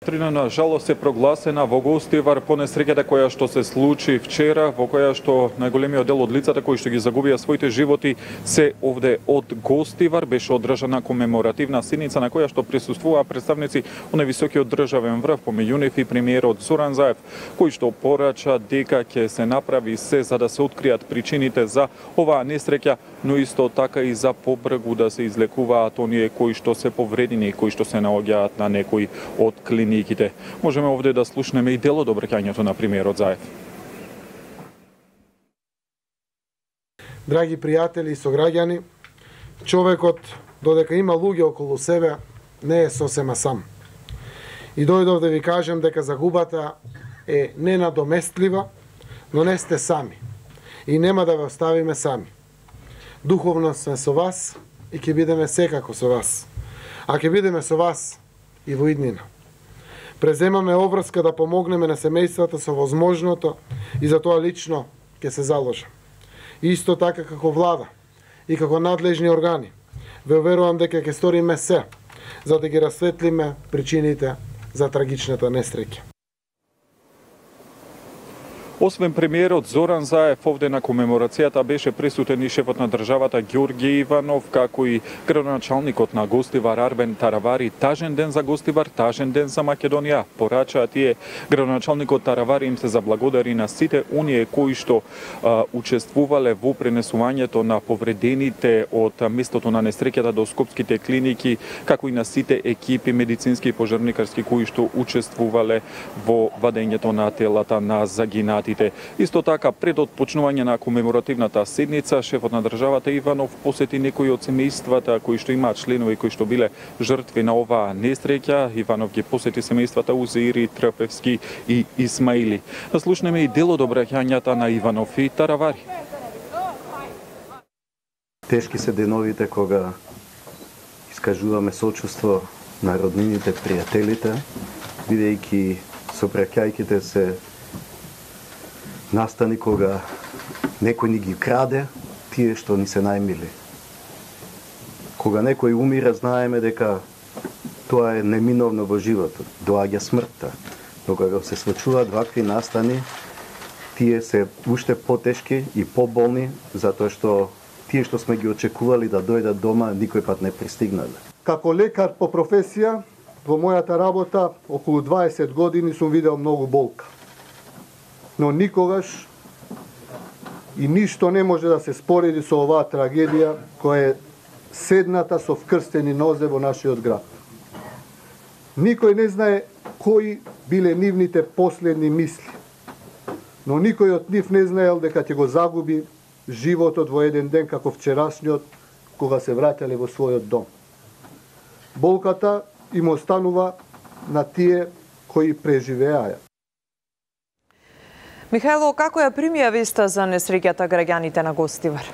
Трина на жалост е прогласена во Гостивар по несреќата која што се случи вчера, во која што најголемиот дел од лицата кои што ги загубија своите животи се овде од Гостивар. Беше одржана комеморативна седница на која што присуствуваа представници од највисокиот државен врв, помеѓу нив и премиерот Зоран Заев, кој што порача дека ќе се направи се за да се откријат причините за оваа несреќа, но исто така и за побрзо да се излекуваат оние кои што се повредени, кои што се наоѓаат на некои од клиниките. Можеме овде да слушнеме и дел од обраќањето на премиерот Заев. Драги пријатели и сограѓани, човекот, додека има луѓе околу себе, не е сосема сам. И дојдов да ви кажем дека загубата е ненадоместлива, но не сте сами. И нема да ве оставиме сами. Духовно сме со вас и ќе бидеме секако со вас. А ќе бидеме со вас и во иднина. Преземаме обврска да помогнеме на семејствата со возможното и за тоа лично ќе се заложам. Исто така како влада и како надлежни органи, ве уверувам дека ќе сториме се за да ги расветлиме причините за трагичната несреќа. Освен премиерот Зоран Заев, овде на комеморацијата беше присутен и шефот на државата Ѓорѓе Иванов, како и градоначалникот на Гостивар Арбен Таравари. Тажен ден за Гостивар, тажен ден за Македонија. Порачаа тие, градоначалникот Таравари им се заблагодари на сите оние кои што учествувале во пренесувањето на повредените од местото на несреќата до скопските клиники, како и на сите екипи медицински и пожарникарски кои што учествувале во вадењето на телата на загинати. Исто така, пред отпочнување на комеморативната седница, шефот на државата Иванов посети некои од семејствата кои што имаат членови кои што биле жртви на оваа несреќа. Иванов ги посети семејствата Узеири, Трпевски и Исмаили. Да слушнеме и дел од обраќањата на Иванов и Таравари. Тешки се деновите кога искажуваме сочувство на роднините, пријателите, бидејќи сопраќајките се настани кога некој ни ги краде тие што ни се најмили. Кога некој умира, знаеме дека тоа е неминовно во животот, доаѓа смртта. Но кога се случуваат вакви настани, тие се уште потешки и поболни, затоа што тие што сме ги очекували да дојдат дома, никој пат не пристигнале. Како лекар по професија, во мојата работа, околу 20 години сум видел многу болка. Но никогаш и ништо не може да се спореди со оваа трагедија која е седната со вкрстени нозе во нашиот град. Никој не знае кои биле нивните последни мисли, но никој од нив не знаел дека ќе го загуби животот во еден ден како вчерашниот, кога се враќале во својот дом. Болката им останува на тие кои преживеаја. Михајло, како ја примија веста за несреќата граѓаните на Гостивар?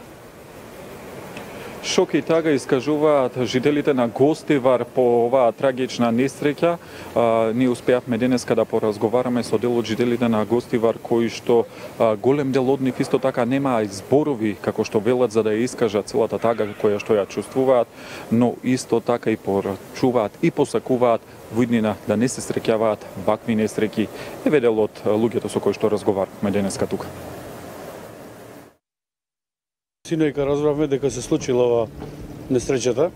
Шок и тага искажуваат жителите на Гостивар по оваа трагична несреќа. Ние успеавме денеска да поразговараме со дел од жителите на Гостивар кои што голем дел од нив исто така немаа зборови како што велат за да ја искажат целата тага која што ја чувствуваат, но исто така и порачуваат и посакуваат во иднина да не се среќаваат вакви несреќи. Еве дел од луѓето со кои што разговаравме денеска тука. Синојка разбравме дека се случила ова несреќата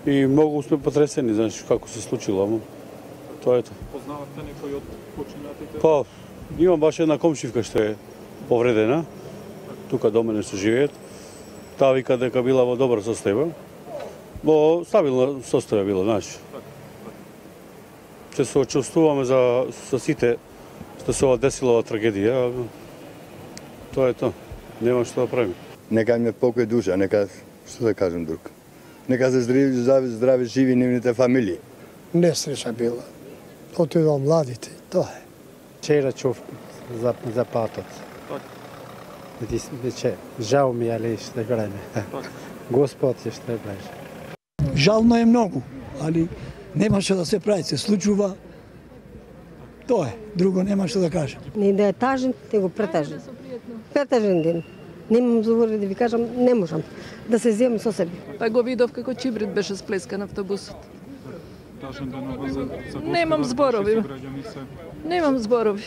и многу сме потресени, знаеш, како се случило, ама тоа е тоа. Познавате некој од починатите? Па, имам баш една комшивка што е повредена, тука до мене што живеат. Таа вика дека била во добро состојба, во стабилно состојба била, знаеш. Се соочувствуваме за сите што се ова десила ова трагедија, тоа е тоа. Нема што да правим. Нека им е покој душа, нека, што да кажем друг. Нека се здрави живи нивните фамилии. Несреќа била. Отидол младите, тоа е. Вчера чув за патот. Жал ми, али ще гледа. Господ ще гледа. Жално е многу, али нема што да се прави, се случува. Тоа е, друго нема што да кажем. Не да е тажен, те го претажен. Претажен ден. Немам збори да ви кажам, не можам да се земам со себе. Па го видов како чибрид беше сплескан автобусот. тажен ден за Гостивар? Немам зборови. Немам зборови.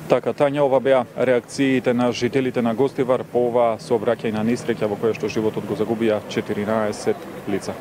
Така, Тања, ова беа реакциите на жителите на Гостивар по ова сообраќајна несреќа во која што животот го загубија 14 лица.